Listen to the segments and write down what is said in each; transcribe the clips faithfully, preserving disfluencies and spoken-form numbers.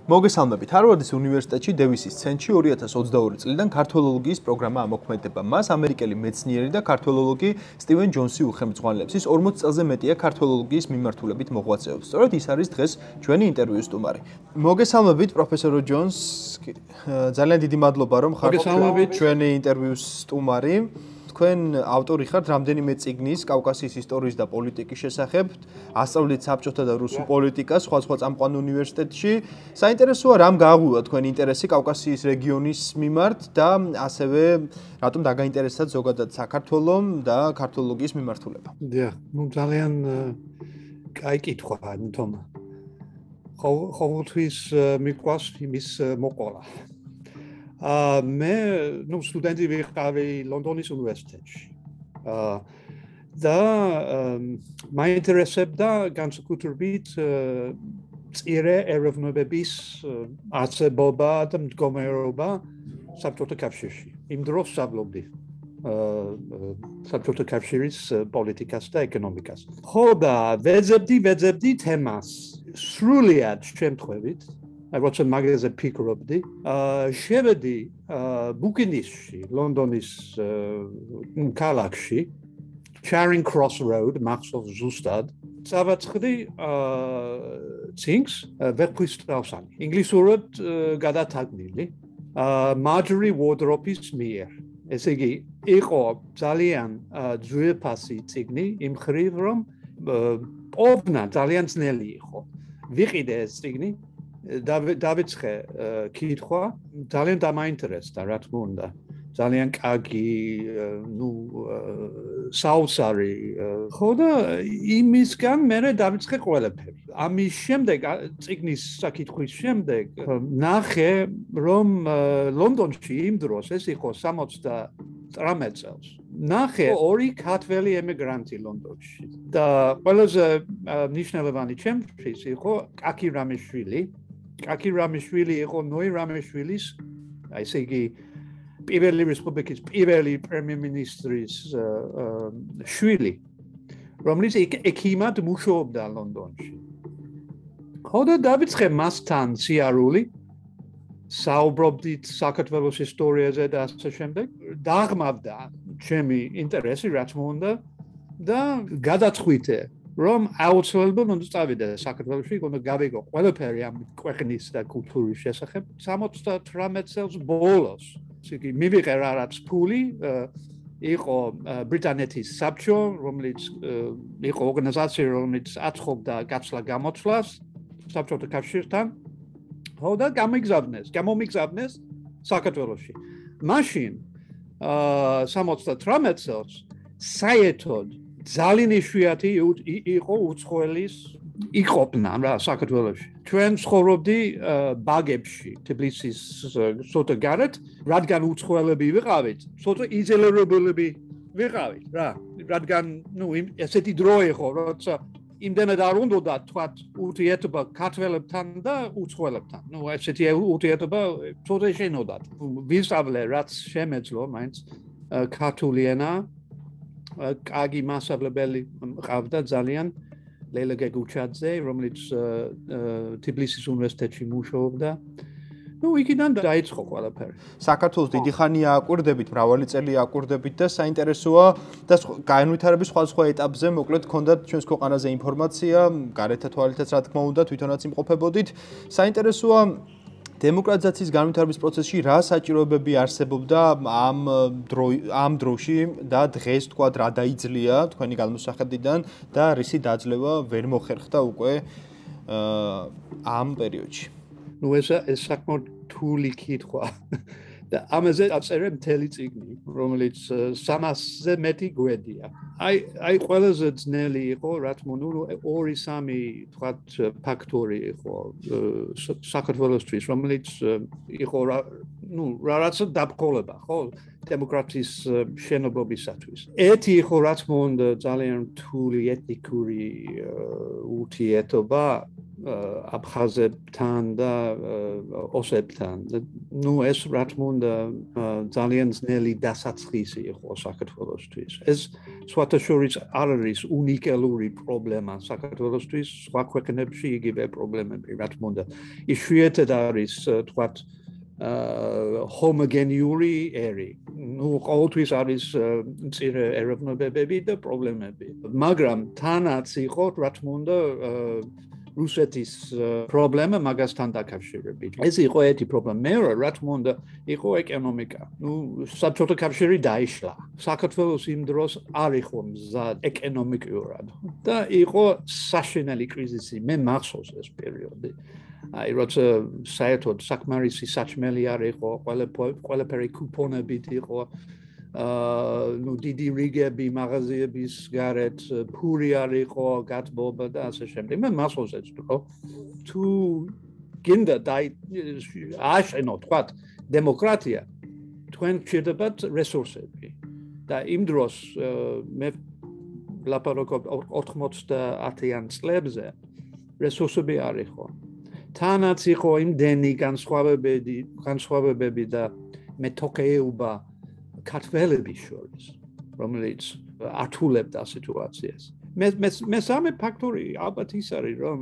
მოგესალმებით. ჰარვარდის უნივერსიტეტში დევისის ცენტრში ორი ათას ოცდაორი წლიდან ქართველოლოგიის პროგრამა ამოქმედება. მას ამერიკელი მეცნიერი და ქართველოლოგი სტივენ ჯონსი უხელმძღვანელებს. ის ორმოც წელზე მეტია ქართველოლოგიის მიმართულებით მოღვაწეობს. სწორედ ის არის დღეს ჩვენი ინტერვიუს სტუმარი. მოგესალმებით, პროფესორო ჯონს. ძალიან დიდი მადლობა, რომ ხართ ჩვენი ინტერვიუს სტუმარი. თქვენ ავტორი ხართ რამდენიმე წიგნის კავკასიის ისტორიის და პოლიტიკის შესახებ, ასწავლეთ საბჭოთა და რუსულ პოლიტიკას სხვადასხვა წამყვან უნივერსიტეტში. საინტერესოა, რამ გააღვივა თქვენი ინტერესი კავკასიის რეგიონის მიმართ და ასევე რატომ დაგაინტერესდათ ზოგადად საქართველოს და ქართველოლოგიის მიმართულება. დიახ, ну ძალიან კაი კითხვა, თვითონ ყოველთვის მიყვარს იმის მოყოლა. აა მე ნუ სტუდენტი ვიყავი ლონდონის უნივერსიტეტში. აა და მაინტერესებდა განსაკუთრებით მწირე ეროვნებების არსებობა და მდგომარეობა საბჭოთა კავშირში. იმ დროს ვსწავლობდი საბჭოთა კავშირის პოლიტიკას და ეკონომიკას. ხო და ვეძებდი ვეძებდი თემას სრულიად შემთხვევით. აი როცა მაგაზე ფიქრობდი, აა შევედი ბუკინისში, ლონდონის ქალაქში, Charing Cross Road, მახსოვს ზუსტად, წავაწყდი აა ცინგს ვერტყისტრაუსანი. ინგლისურად გადათარგმნილი, აა Marjorie Wardrope-ის მიერ. ესე იგი, იყო ძალიან ძვირფასი წიგნი, იმ მხრივ რომ ყოფნა ძალიან ძნელი იყო. ვიყიდე ეს წიგნი დავიწყე კითხვა, ძალიან დამაინტერესდა, რა თქმა უნდა. ძალიან კარგი, ნუ საოცარი. ხო და იმისგან მე დავიწყე ყველაფერი. ამის შემდეგ, წიგნის საკითხვის შემდეგ, ნახე, რომ ლონდონში იმ დროს ეს იყო სამოცდათვრამეტ წელს. ნახე ორი ქართველი ემიგრანტი ლონდონში. და ყველაზე მნიშვნელოვანი ჩემთვის იყო კაკი რამიშვილი. კაკი რამიშვილი იყო ნოე რამიშვილის, აი ესე იგი პირველი რესპუბლიკის პირველი პრემიერ-მინისტრის შვილი, რომელიც ექიმად მუშაობდა ლონდონში. ხო და დავიწყე მასთან სიარული, საუბრობდით საქართველოს ისტორიაზე და ასე შემდეგ. დაღმავდა ჩემი ინტერესი, რა თქმა უნდა, და გადაწყვიტე რომ აუცილებლად უნდა წავიდე საქართველოში, უნდა გავიგო ყველაფერი ამ ქვეყნის და კულტურის შესახებ. სამოცდათვრამეტ წელს ბოლოს, იგი მივიღე რაღაც ფული, იყო ბრიტანეთის საბჭო, რომელიც იყო ორგანიზაცია, რომელიც აწყობდა გაცვლა-გამოცვლას საბჭოთა კავშირთან. ხო და გამიგზავნეს, გამომიგზავნეს საქართველოში. მაშინ სამოცდათვრამეტ წელს საერთოდ ძალიან იშვიათი იყო უცხოელის იყოფნა რა საქართველოში. ჩვენ ცხოვრობდი ბაგებში, თბილისის ცოტა გარეთ, რადგან უცხოელები ვიყავით, ცოტა იზოლირებულები ვიყავით რა. რადგან ნუ ესეთი დრო იყო, როცა იმდენად არ უნდა თქვათ ურთიერთობა ქართველებთან და უცხოელებთან. ნუ ესეთი ურთიერთობა ცოტა შენოდათ. ვისწავლე რაც შემეძლო, მაინც ქართული ენა. კარგი მასწავლებელი მყავდა ძალიან ლელა გეგუჩაძე, რომელიც თბილისის უნივერსიტეტში მუშაობდა. ნუ იქიდან დაიწყო ყველაფერი. საქართველოს დიდი ხანია აკვირდებით, მრავალი წელი აკვირდებით და საინტერესოა და განვითარების სხვადასხვა ეტაპზე მოკლედ გქონდათ ჩვენს ქვეყანაზე ინფორმაცია, გარეთ თვალითაც რა თქმა უნდა, თვითონაც იმყოფებოდით. საინტერესოა დემოკრატიზაციის განვითარების პროცესში რა საჭიროებები არსებობდა ამ დრო ამ დროში და დღეს თქვა რა დაიძლია თქვენი გადმოსახედიდან და რისი დაძლევა ვერ მოხერხდა უკვე ამ პერიოდში. ნუ ეს ეს საკმაოდ რთული კითხვა. და ამაზე აწერე მთელი წიგნი, რომელიც სამასზე მეტი გვედია. აი აი ყველაზე ძნელი იყო, რა თქმა უნდა, ორი სამი თქვათ ფაქტორი იყო საქართველოსთვის, რომელიც იყო ნუ რაღაცა დაბრძოლება, ხო, დემოკრატიის შენობისათვის. ერთი იყო, რა თქმა უნდა, ძალიან რთული ეთნიკური ურთიერთობა აფხაზებთან და ოსებთან. ნუ ეს რა თქმა უნდა ძალიან ძნელი დასაწყისი იყო საქართველოსთვის. ეს სხვათა შორის არ არის უნიკალური პრობლემა საქართველოსთვის, სხვა ქვეყნებში იგივე პრობლემები, რა თქმა უნდა. იშვიათად არის თქვათ ჰომოგენიური ერი. ნუ ყოველთვის არის მცირე ეროვნებები და პრობლემები. მაგრამ თანაც იყო, რა თქმა უნდა, რუსეთის პრობლემა მაგასთან დაკავშირებით. ეს იყო ერთი პრობლემა. მეორე, რა თქმა უნდა, იყო ეკონომიკა. ნუ საბჭოთა კავშირი დაიშლა. საქართველოს იმ დროს არ იყო მზად ეკონომიკურად და იყო საშინელი კრიზისი. მე მახსოვს ეს პერიოდი. აი, როცა საერთოდ საკმარისი საჭმელი არ იყო, ყველაფერი კუპონებით იყო. აა ნუ დიდი რიგები მაღაზიების გარეთ ფური არ იყო, გათბობა და ასე შემდეგ. მე მახსოვს ეს დრო. თუ გინდა დაი აშენო თქვა დემოკრატია, თქვენ გჭირდებათ რესურსები. და იმ დროს მე ლაპარაკობ ოთხმოცდაათიან წლებზე რესურსები არ იყო. თანაც იყო იმდენი განსხვავებები, განსხვავებები და მეთოქეობა ქართველების შორის, რომელიც ართულებდა სიტუაციას. მე მე სამე ფაქტორი ალბათ ის არის, რომ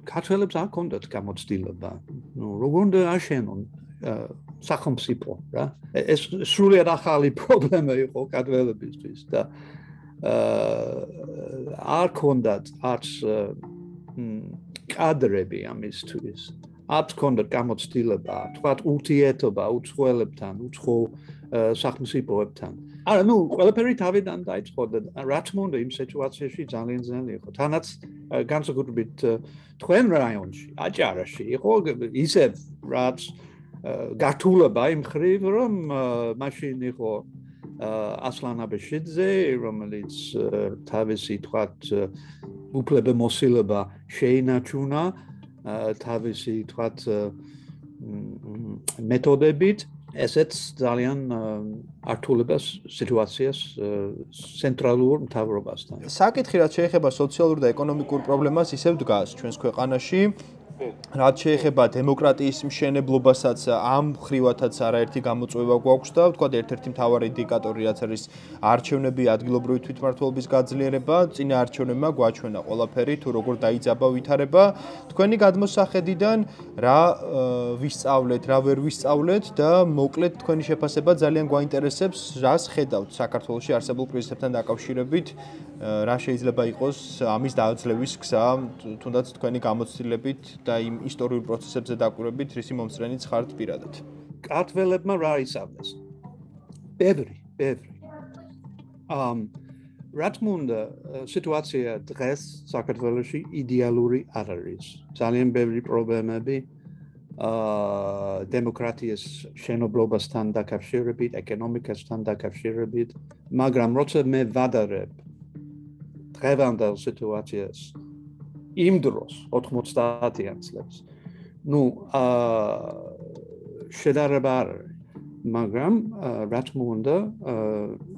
ქართველებს არ ჰქონდათ გამოცდილება. ნუ როგორ უნდა აშენონ სახელმწიფო, რა? ეს სრულიად ახალი პრობლემა იყო ქართველებისთვის და არ ჰქონდათ არც კადრები ამისთვის. არ ჰქონდათ გამოცდილება, თქვათ ურთიერთობა უცხოელებთან, უცხო სახელმწიფოებთან. არა, ნუ ყველაფერი თავიდან დაიწყო და რა თქმა უნდა იმ სიტუაციაში ძალიან ძნელი იყო. თანაც განსაკუთრებით თქვენ რაიონში, აჭარაში იყო ისევ რაც გართულება იმ ხრივ, რომ მაშინ იყო ასლან აბეშიძე, რომელიც თავისი თქვათ უფლებამოსილება შეინარჩუნა თავისი თქვათ მეთოდებით, ესეც ძალიან ართულებას სიტუაციას ცენტრალურ მთავრობასთან. საკითხი რაც შეეხება სოციალურ და ეკონომიკურ პრობლემას ისევ დგას ჩვენს ქვეყანაში. რაც შეეხება დემოკრატიის მშენებლობასაც ამ ხრივათაც არაერთი გამოწვევა გვაქვს და ვთქვათ ერთ-ერთი მთავარი ინდიკატორი რაც არის არჩევნები, ადგილობრივი თვითმმართველობის გაძლიერება, წინა არჩევნებმა გვაჩვენა ყველაფერი თუ როგორ დაიძაბა ვითარება. თქვენი გადმოსახედიდან რა ვისწავლეთ, რა ვერ ვისწავლეთ და მოკლედ თქვენი შეფასება ძალიან გვაინტერესებს, რას ხედავთ საქართველოში არსებულ კრიზისებთან დაკავშირებით, რა შეიძლება იყოს ამის დაძლევის გზა, თუნდაც თქვენი გამოცდილებით და იმ ისტორიულ პროცესებზე დაკვირვებით, რისი მომსწრენიც ხართ პირადად. ქართველებმა რა ისწავლეს? ბევრი, ბევრი. ამ რა თქმა უნდა, სიტუაცია დღეს საქართველოში იდეალური არ არის. ძალიან ბევრი პრობლემები აა დემოკრატიის შენობლობასთან დაკავშირებით, ეკონომიკასთან დაკავშირებით, მაგრამ როცა მე ვადარებ დღევანდელ სიტუაციას იმ დროს ოთხმოცდაათიან წლებს. ნუ აა შედარება არ არის, მაგრამ რა თქმა უნდა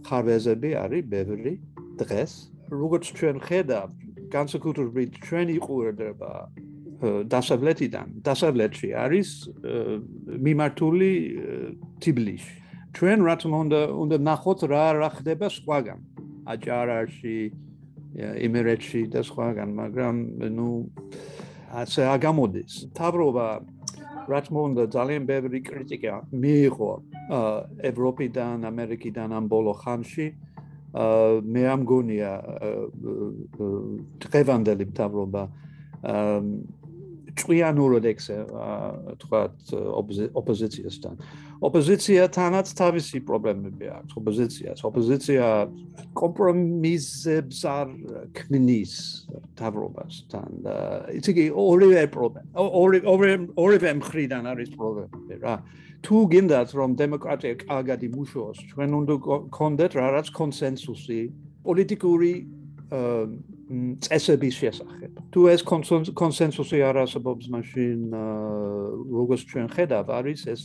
ხარვეზები არის ბევრი დღეს. როგორც ჩვენ ხედავთ, განსაკუთრებით ჩვენი ყურადღება დასავლეთიდან, დასავლეთში არის მიმართული თბილისში. ჩვენ რა თქმა უნდა უნდა ნახოთ რა რა ხდება სხვაგან. აჭარაში იმერეთში და სხვაგან, მაგრამ ნუ ასე აგამოდის. მთავრობა რა თქმა უნდა ძალიან ბევრი კრიტიკა მიიღო ევროპიდან, ამერიკიდან ამ ბოლო ხანში. მე ამ გონია დღევანდელი მთავრობა ჭვიანურად ექცევა თქვათ ოპოზიციასთან. ოპოზიციათანაც თავისი პრობლემები აქვს. ოპოზიციას, ოპოზიცია კომპრომისებს არ ქმნის მთავრობასთან. იცი კი ორივე პრობლემა, ორივე მხრიდან არის პრობლემები რა. თუ გინდათ რომ დემოკრატია კარგად იმუშაოს, ჩვენ უნდა გქონდეთ რაღაც კონსენსუსი პოლიტიკური წესების შესახებ. თუ ეს კონსენსუსი არ არსებობს, მაშინ როგორც ჩვენ ხედავ, არის ეს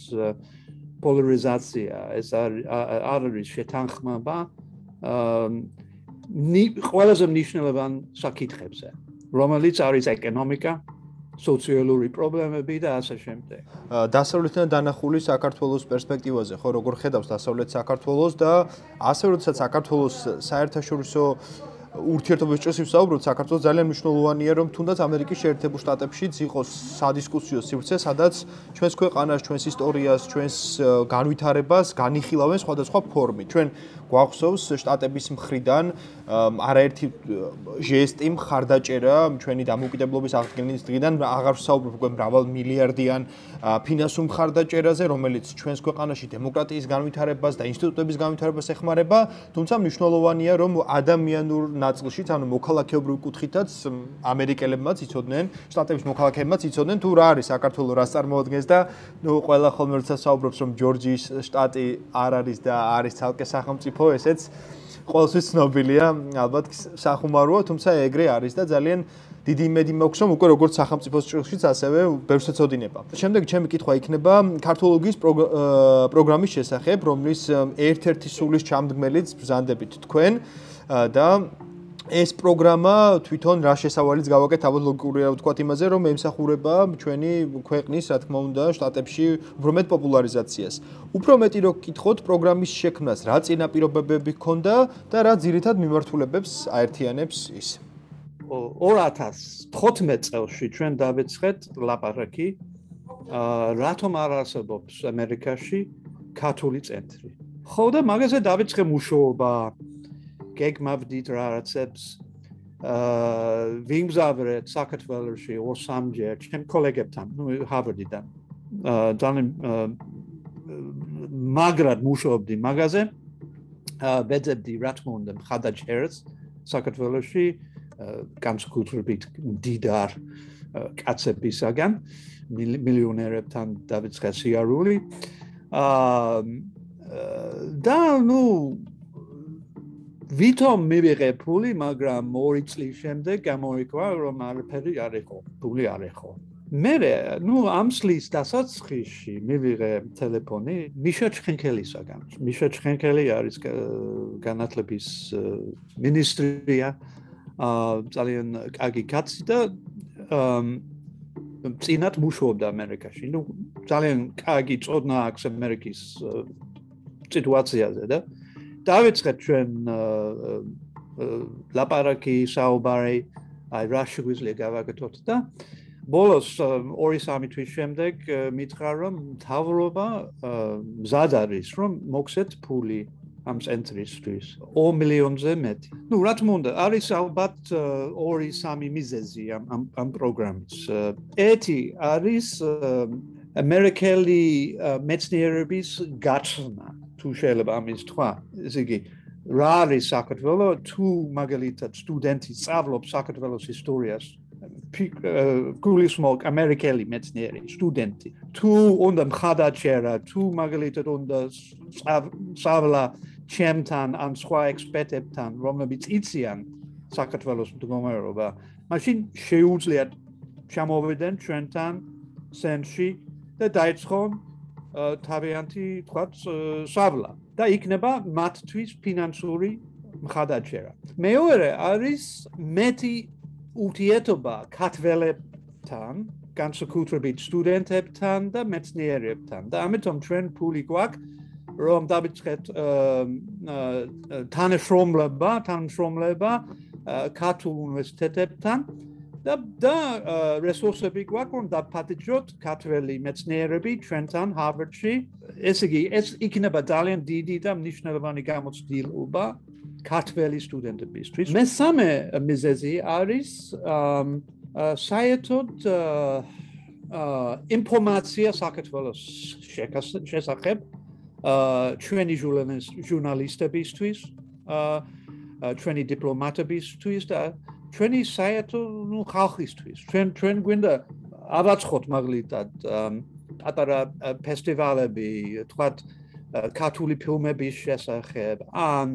პოლარიზაცია, ეს არ არის შეთანხმება ყველაზე მნიშვნელოვან საკითხებზე. რომელიც არის ეკონომიკა, სოციალური პრობლემები და ასე შემდეგ. დასავლეთიდან დანახული საქართველოს პერსპექტივაზე, ხო, როგორ ხედავს დასავლეთ საქართველოს და ასე როდესაც საქართველოს საერთაშორისო ურთიერთობების ჭრილს ვსაუბრობთ, საქართველოს ძალიან მნიშვნელოვანია, რომ თუნდაც ამერიკის შეერთებულ შტატებშიც იყოს სადისკუსიო სივრცე, სადაც ჩვენს ქვეყანას, ჩვენს ისტორიას, ჩვენს განვითარებას განიხილავენ სხვადასხვა ფორმით. ჩვენ გვახსოვს შტატების მხრიდან არაერთი ჟესტი მხარდაჭერა ჩვენი დამოუკიდებლობის აღდგენის დღიდან აღარ ვსაუბრობ უკვე მრავალ მილიარდიან ფინანსურ მხარდაჭერაზე, რომელიც ჩვენს ქვეყანაში დემოკრატიის განვითარებას და ინსტიტუტების განვითარებას ეხმარება, თუმცა მნიშვნელოვანია, რომ ადამიანურ ნაწილშიც, ანუ მოქალაქეობრივ კუთხითაც ამერიკელებმაც იცოდნენ, შტატების მოქალაქეებმაც იცოდნენ თუ რა არის საქართველოს რას წარმოადგენს და ნუ ყველა ხოლმე როცა საუბრობს, რომ ჯორჯიის შტატი არ არის და არის ცალკე სახელმწიფო, ესეც ყოველთვის ცნობილია, ალბათ სახუმაროა, თუმცა ეგრე არის და ძალიან დიდი იმედი მაქვს, რომ უკვე როგორც სახელმწიფოს ჭრილშიც, ასევე ბევრს ეცოდინება. შემდეგ ჩემი კითხვა იქნება ქართოლოგიის პროგრამის შესახებ, რომლის ერთ-ერთი სულის ჩამდგმელიც ბრძანდებით თქვენ და ეს პროგრამა თვითონ რა შესავალიც გავაკეთეთ, ალბათ ლოგიკურია ვთქვათ იმაზე, რომ ემსახურება ჩვენი ქვეყნის, რა თქმა უნდა, შტატებში უფრო მეტ პოპულარიზაციას. უფრო მეტი რო გკითხოთ პროგრამის შექმნას, რა წინაპირობებები ჰქონდა და რა ძირითად მიმართულებებს აერთიანებს ის. ორ ათას თხუთმეტ წელს ჩვენ დავეცხეთ ლაპარაკი, რატომ არ არსებობს ამერიკაში ქართული ცენტრი. ხო და მაგაზე დავეცხე მუშაობა გეგმავდით რაღაცებს ვიმგზავრეთ საქართველოში ორ სამჯერ ჩემ კოლეგებთან, ნუ ჰარვარდიდან. ძალიან მაგრად მუშაობდი მაგაზე. ვეძებდი რა თქმა უნდა მხარდაჭერას საქართველოში განსაკუთრებით მდიდარ კაცებისაგან, მილიონერებთან დავიწყე სიარული. და ნუ ვითომ მივიღე ფული, მაგრამ ორი წლის შემდეგ გამოიგვა, რომ არაფერი არ იყო, ფული არ იყო. მერე, ნუ ამ წლის დასაწყისში მივიღე ტელეფონი მიშა ჩხენკელისაგან. მიშა ჩხენკელი არის განათლების მინისტრია, ძალიან კარგი კაცი და წინათ მუშაობდა ამერიკაში. ნუ ძალიან კარგი წოდნა აქვს ამერიკის სიტუაციაზე და დავიწყეთ ჩვენ ლაპარაკი საუბარი, აი რა შეგვიძლია გავაკეთოთ და ბოლოს ორი სამი თვის შემდეგ მითხრა რომ მთავრობა მზად არის რომ მოგცეთ ფული ამ ცენტრისთვის ორ მილიონზე მეტი. ნუ რა თქმა უნდა არის ალბათ ორი სამი მიზეზი ამ ამ პროგრამის. ერთი არის ამერიკელი მეცნიერების გაცნობა. თუ შეიძლება ამის თქვა, ესე იგი, რა არის საქართველო, თუ მაგალითად სტუდენტი სწავლობს საქართველოს ისტორიას, გულისხმობ ამერიკელი მეცნიერი სტუდენტი, თუ უნდა მხარდაჭერა, თუ მაგალითად უნდა სწავლა ჩემთან ან სხვა ექსპერტებთან, რომლებიც იციან საქართველოს მდგომარეობა, მაშინ შეუძლიათ ჩამოვიდნენ ჩვენთან ცენტრში და დაიწყონ თავიანთი თქვათ სწავლა და იქნება მათთვის ფინანსური მხარდაჭერა. მეორე არის მეტი ურთიერთობა ქართველებთან, განსაკუთრებით სტუდენტებთან და მეცნიერებთან და ამიტომ ჩვენ ფული გვაქვს რომ დავიწყეთ თანამშრომლობა, თანამშრომლობა ქართულ უნივერსიტეტებთან და და რესურსები გვაქვს რომ დაფატიჭოთ ქართველი მეცნიერები ჩვენთან ჰარვარდში. ესე იგი, ეს იქნება ძალიან დიდი და მნიშვნელოვანი გამოცდილება ქართველი სტუდენტებისთვის. მესამე მიზეზი არის საერთოდ ინფორმაცია საქართველოს შესახებ ჩვენი ჟურნალისტებისთვის, ჩვენი დიპლომატებისთვის და ჩვენი საერთო ნუ ხალხისთვის. ჩვენ ჩვენ გვინდა ავაცხოთ მაგალითად პატარა ფესტივალები, თქვათ ქართული ფილმების შესახებ, ან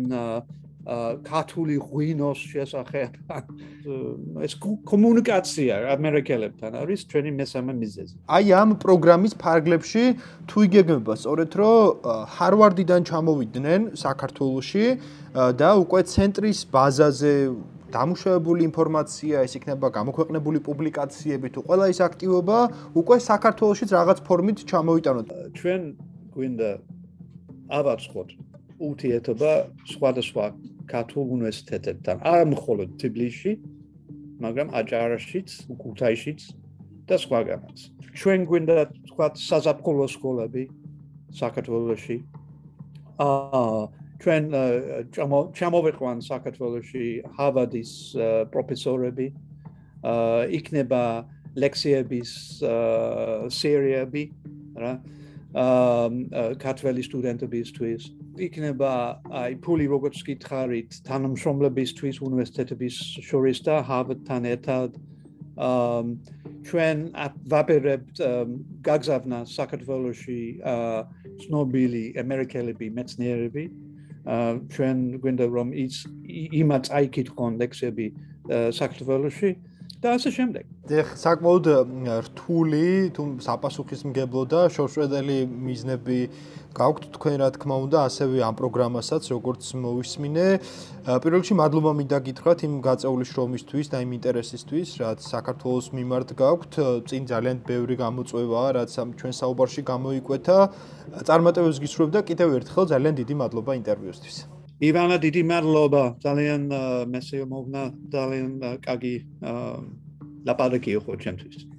ქართული ღვინოს შესახებ. ეს კომუნიკაცია ამერიკელებთან არის ჩვენი მესამე მიზეზი. აი ამ პროგრამის ფარგლებში თუ იგეგმება სწორედ რომ ჰარვარდიდან ჩამოვიდნენ საქართველოში და უკვე ცენტრის ბაზაზე დამუშავებული ინფორმაცია, ეს იქნება გამოქვეყნებული პუბლიკაციები თუ ყველა ის აქტივობა უკვე საქართველოშიც რაღაც ფორმით ჩამოიტანოთ. ჩვენ გვინდა ავაწყოთ ურთიერთობა სხვადასხვა ქართულ უნივერსიტეტებთან, არა მხოლოდ თბილისში, მაგრამ აჭარაშიც, ქუთაისშიც და სხვაგანაც. ჩვენ გვინდა თქვა საზაფხულო სკოლები საქართველოში. აა ჩვენ ჩამოვიყვან საქართველოში ჰარვარდის პროფესორები, აა იქნება ლექციების სერიები, რა. აა ქართველი სტუდენტებისთვის იქნება აი ფული როგორც გითხარით თანამშრომლებისთვის უნივერსიტეტების შორის და ჰარვარდთან ერთად აა ჩვენ ვაპირებთ გაგზავნა საქართველოში ცნობილი ამერიკელები მეცნიერები ჩვენ გვინდა რომ ის იმათ აიკითხონ ლექციები საქართველოში და ასე შემდეგ. ეხ საკმაოდ რთული თუ საპასუხისმგებლო და შორშვედელი მიზნები გაქვთ თქვენ რა თქმა უნდა ასევე ამ პროგრამასაც როგორც მოვისმინე. პირველ რიგში მადლობა მინდა გითხრათ იმ გაწეული შრომისთვის და იმ ინტერესისთვის რაც საქართველოს მიმართ გაქვთ. წინ ძალიან ბევრი გამოწვევაა რაც ჩვენ საუბარში გამოიკვეთა. წარმატებებს გისურვებ და კიდევ ერთხელ ძალიან დიდი მადლობა ინტერვიუსთვის. ივანა დიდი მადლობა ძალიან მესიომოვნა ძალიან კარგი ლაპარაკი იყო ჩემთვის.